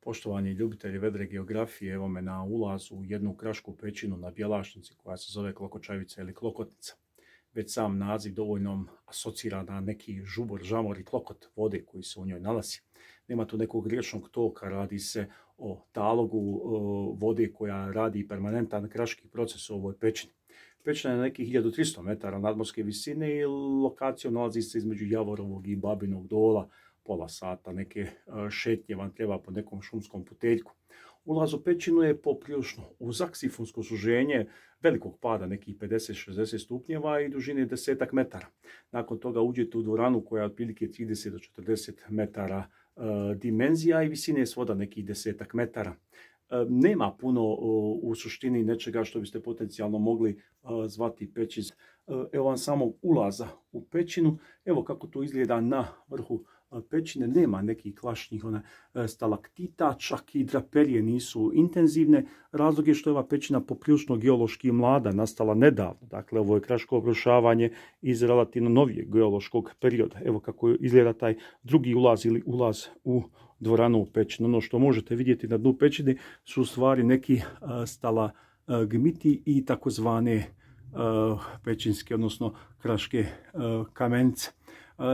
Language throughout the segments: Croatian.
Poštovani ljubitelji vedre geografije, evo me na ulazu u jednu krašku pećinu na Bjelašnici koja se zove Klokočavica ili Klokotnica. Već sam naziv dovoljno asocira na neki žubor, žamor i klokot vode koji se u njoj nalazi. Nema tu nekog riječnog toka, radi se o talogu vode koja radi permanentan kraški proces u ovoj pećini. Pećina je na nekih 1300 metara nadmorske visine i lokacijom nalazi se između Javorovog i Babinog dola. Pola sata neke šetnje vam treba po nekom šumskom puteljku. Ulaz u pećinu je poprilično uzak, sifonsko suženje velikog pada, nekih 50-60 stupnjeva i dužine 10 metara. Nakon toga uđete u dvoranu koja je otprilike 30 do 40 metara dimenzija i visine svoda nekih 10 metara. Nema puno u suštini nečega što biste potencijalno mogli zvati pećiz. Evo vam samog ulaza u pećinu. Evo kako to izgleda na vrhu pećine. Nema nekih klašnih stalaktita, čak i draperije nisu intenzivne. Razlog je što je ova pećina poprilično geološki mlada, nastala nedavno. Dakle, ovo je kraško obrušavanje iz relativno novijeg geološkog perioda. Evo kako izgleda taj drugi ulaz ili ulaz u dvoranu u pećinu. Ono što možete vidjeti na dnu pećine su u stvari neki stalagmiti i takozvane pećinske, odnosno kraške kamenice.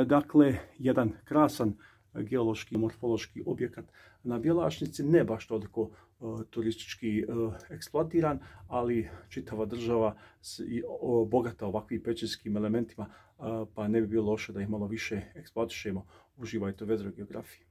Dakle, jedan krasan geološki, morfološki objekat na Bjelašnici, ne baš toliko turistički eksploatiran, ali čitava država bogata ovakvim pećinskim elementima, pa ne bi bilo loše da ih malo više eksploatišemo. Uživajte u vedroj geografiji.